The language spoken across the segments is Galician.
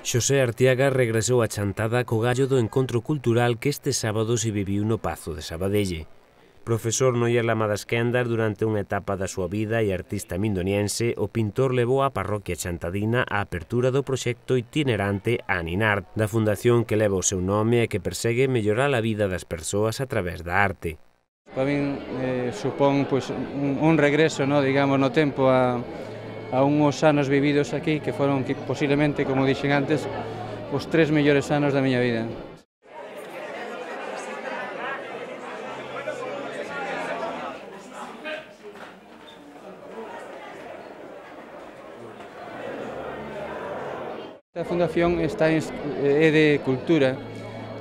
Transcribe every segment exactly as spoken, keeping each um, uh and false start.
Xosé Artiaga regresou a Chantada co gallo do encontro cultural que este sábado se viviu no Pazo de Sabadelle. Profesor no Irlama das Quendas durante unha etapa da súa vida e artista mindoniense, o pintor levou á parroquia chantadina a apertura do proxecto itinerante Aninart, da fundación que leva o seu nome e que persegue mellorar a vida das persoas a través da arte. Para min eh, supón pues, un, un regreso, no, digamos, no tempo a, a unhos anos vividos aquí que foron que, posiblemente, como dixen antes, os tres mellores anos da miña vida. A fundación está en, é de cultura,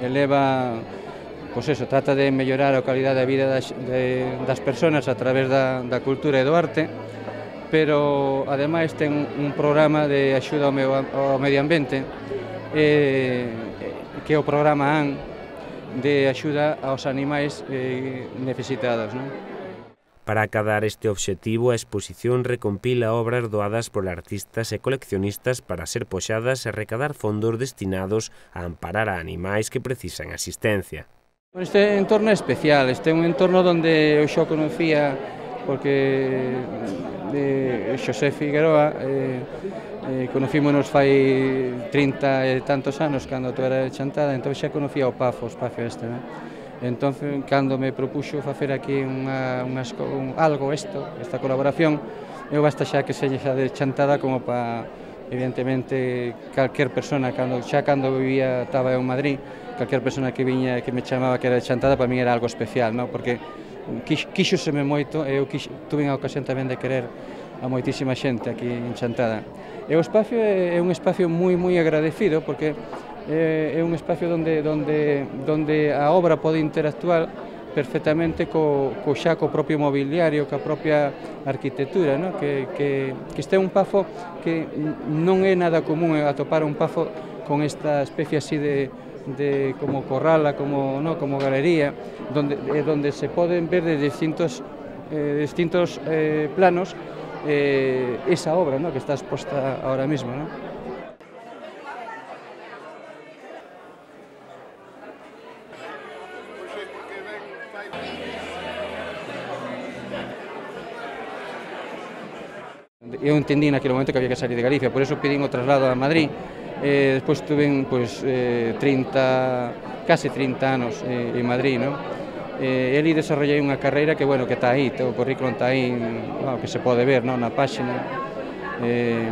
eleva, pois eso, trata de mellorar a calidade de vida das, de, das persoas a través da, da cultura e do arte, pero ademais ten un programa de axuda ao, medio, ao medio ambiente, eh, que é o programa A N, de axuda aos animais eh, necesitados, non? Para acadar este obxectivo, a exposición recompila obras doadas por artistas e coleccionistas para ser poxadas e recadar fondos destinados a amparar a animais que precisan asistencia. Este entorno é especial, este é un entorno onde eu xa conocía, porque de Xosé Figueroa eh, eh, conocímonos fai trinta e tantos anos cando tú era de Chantada, entón xa conocía o Pafo, o espacio este, non? Entón, cando me propuxo facer aquí unha, unha, un, algo isto, esta colaboración, eu basta xa que se xa de Chantada como para, evidentemente, calquer persona, cando, xa cando vivía, estaba en Madrid, calquer persona que viña que me chamaba que era de Chantada, para mí era algo especial, non? Porque quíxoseme moito, e eu quixo, tuve a ocasión tamén de querer a moitísima xente aquí en Chantada. E o espacio é un espacio moi, moi agradecido, porque é un espacio onde, onde, onde a obra pode interactuar perfectamente co, co xa co propio mobiliario, coa propia arquitectura, no? que, que, que este é un pafo que non é nada común atopar un pafo con esta especie así de, de como corrala, como, no? como galería, donde, donde se poden ver de distintos, eh, distintos eh, planos eh, esa obra, no? que está exposta ahora mismo, ¿no? Eu entendí naquele momento que había que salir de Galicia, por eso pedín o traslado a Madrid. Eh, despois tuve pues, eh, trinta, case trinta anos eh, en Madrid, ¿no? Eh, ali desarrollei unha carreira que, bueno, que está aí, o currículum está aí, bueno, que se pode ver, ¿no? na páxina. Eh,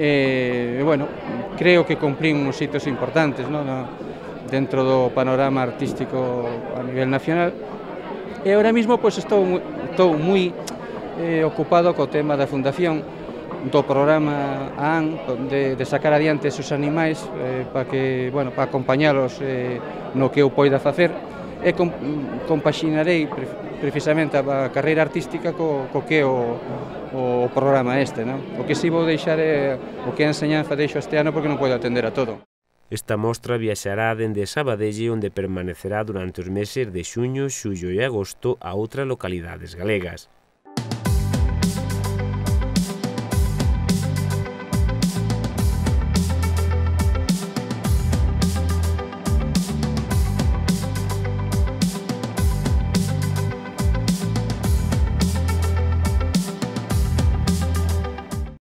eh, bueno, creo que cumplín uns hitos importantes, ¿no? No, dentro do panorama artístico a nivel nacional. E agora mesmo pues, estou, estou moi eh, ocupado co tema da fundación, do programa A N, de, de sacar adiante esos animais eh, para que, bueno, para acompañalos eh, no que eu poida facer, e com, compaxinarei pre, precisamente a carreira artística co, co que é o, o programa este, non? O que si vou deixar é o que a enseñanza deixo este ano porque non podo atender a todo. Esta mostra viaxará dende Sabadelle, onde permanecerá durante os meses de xuño, xullo e agosto a outras localidades galegas.